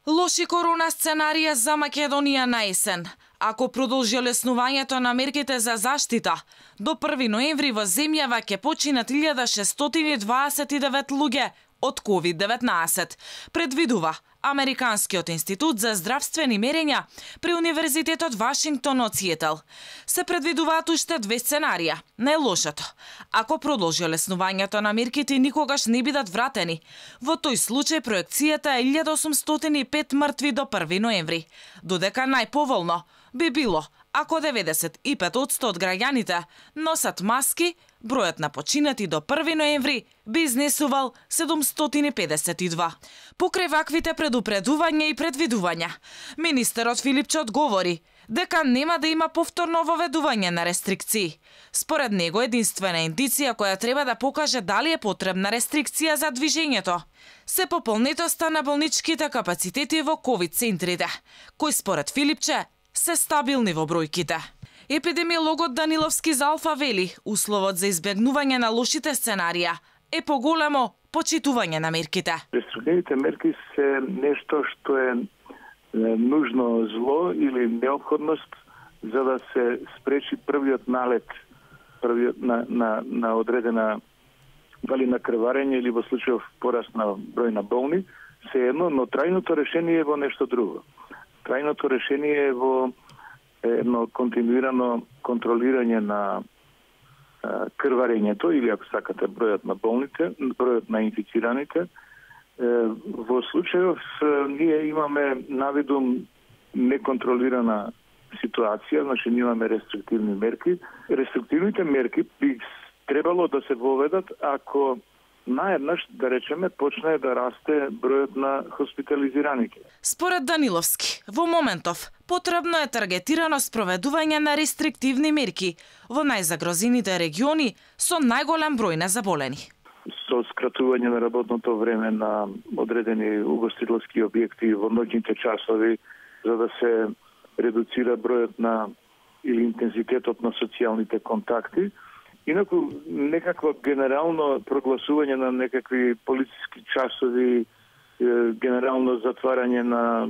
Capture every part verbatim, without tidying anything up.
Лоши корона сценарија за Македонија на есен. Ако продолжи олеснувањето на мерките за заштита, до први ноември во земјава ќе починат илјада шестстотини дваесет и девет луѓе од ковид деветнаесет, предвидува Американскиот институт за здравствени мерења при Универзитетот Вашингтон од Сиетл. Се предвидуваат уште две сценарија. Најлошото, ако продолжи олеснувањето на мерките никогаш не бидат вратени. Во тој случај проекцијата е илјада осумстотини и пет мртви до први ноември, додека најповолно би било ако деветдесет и пет одсто од граѓаните носат маски, бројот на починати до први ноември би изнесувал седумстотини педесет и два. Покрај ваквите предупредувања и предвидувања, министерот Филипче одговори дека нема да има повторно воведување на рестрикции. Според него единствена индиција која треба да покаже дали е потребна рестрикција за движењето се пополнетоста на болничките капацитети во ковид центрите, кои според Филипче се стабилни во бројките. Епидемиологот Даниловски за Алфа вели, условот за избегнување на лошите сценарија е поголемо почитување на мерките. Рестриктивните мерки се нешто што е нужно зло или неопходност за да се спречи првиот налет првиот на, на, на одредена дали на крварење или во случајов пораст на број на болни, се едно, но трајното решение е во нешто друго. Трајното решение е во едно континуирано контролирање на крварењето или ако сакате бројот на болните, бројот на инфицираните. Во случајов ние имаме навидум неконтролирана ситуација, значи ние имаме рестриктивни мерки. Рестриктивните мерки би требало да се воведат ако наеднаш, да речеме, почне да расте бројот на хоспитализираните. Според Даниловски, во моментов потребно е таргетирано спроведување на рестриктивни мерки во најзагрозените региони со најголем број на заболени. Со скратување на работното време на одредени угостителски објекти во ноќните часови, за да се редуцира бројот на или интензитетот на социјалните контакти. Инаку, некакво генерално прогласување на некакви полициски часови, генерално затварање на,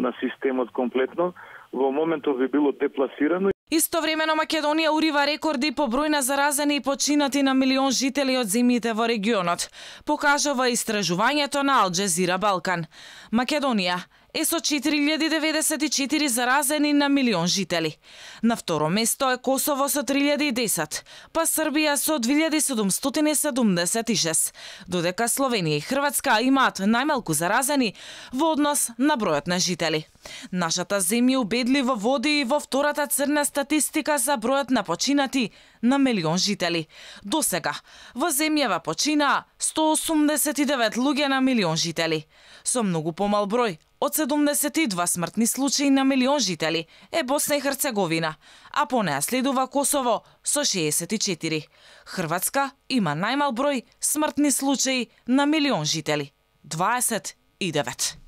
на системот комплетно, во моментов би било депласирано. Истовремено Македонија урива рекорди по број на заразени и починати на милион жители од земјите во регионот, покажува истражувањето на Ал Джезира Балкан. Македонија е со четири илјади деветдесет и четири заразени на милион жители. На второ место е Косово со три илјади и десет, па Србија со две илјади седумстотини седумдесет и шест, додека Словенија и Хрватска имаат најмалку заразени во однос на бројот на жители. Нашата земја убедливо води и во втората црна статистика за бројот на починати на милион жители. Досега во земјава починаа сто осумдесет и девет луѓе на милион жители. Со многу помал број од седумдесет и два смртни случаи на милион жители е Босна и Херцеговина, а по неа следува Косово со шеесет и четири. Хрватска има најмал број смртни случаи на милион жители – дваесет и девет.